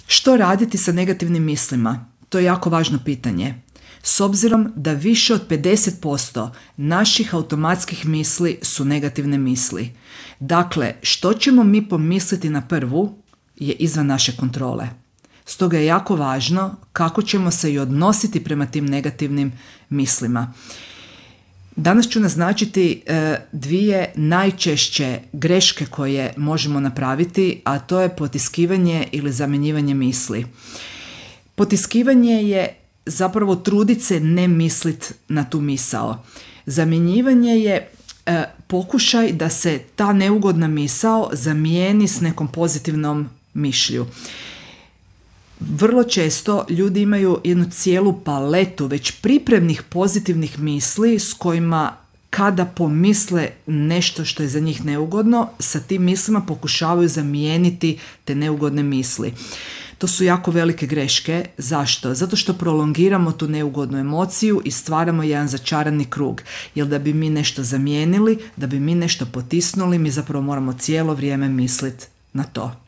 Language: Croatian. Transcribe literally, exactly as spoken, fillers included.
Što raditi sa negativnim mislima? To je jako važno pitanje. S obzirom da više od pedeset posto naših automatskih misli su negativne misli. Dakle, što ćemo mi pomisliti na prvu je izvan naše kontrole. Stoga je jako važno kako ćemo se i odnositi prema tim negativnim mislima. Danas ću naznačiti e, dvije najčešće greške koje možemo napraviti, a to je potiskivanje ili zamjenjivanje misli. Potiskivanje je zapravo trudit se ne mislit na tu misao. Zamjenjivanje je e, pokušaj da se ta neugodna misao zamijeni s nekom pozitivnom mišlju. Vrlo često ljudi imaju jednu cijelu paletu već pripremnih pozitivnih misli s kojima kada pomisle nešto što je za njih neugodno, sa tim mislima pokušavaju zamijeniti te neugodne misli. To su jako velike greške. Zašto? Zato što prolongiramo tu neugodnu emociju i stvaramo jedan začarani krug. Jer da bi mi nešto zamijenili, da bi mi nešto potisnuli, mi zapravo moramo cijelo vrijeme misliti na to.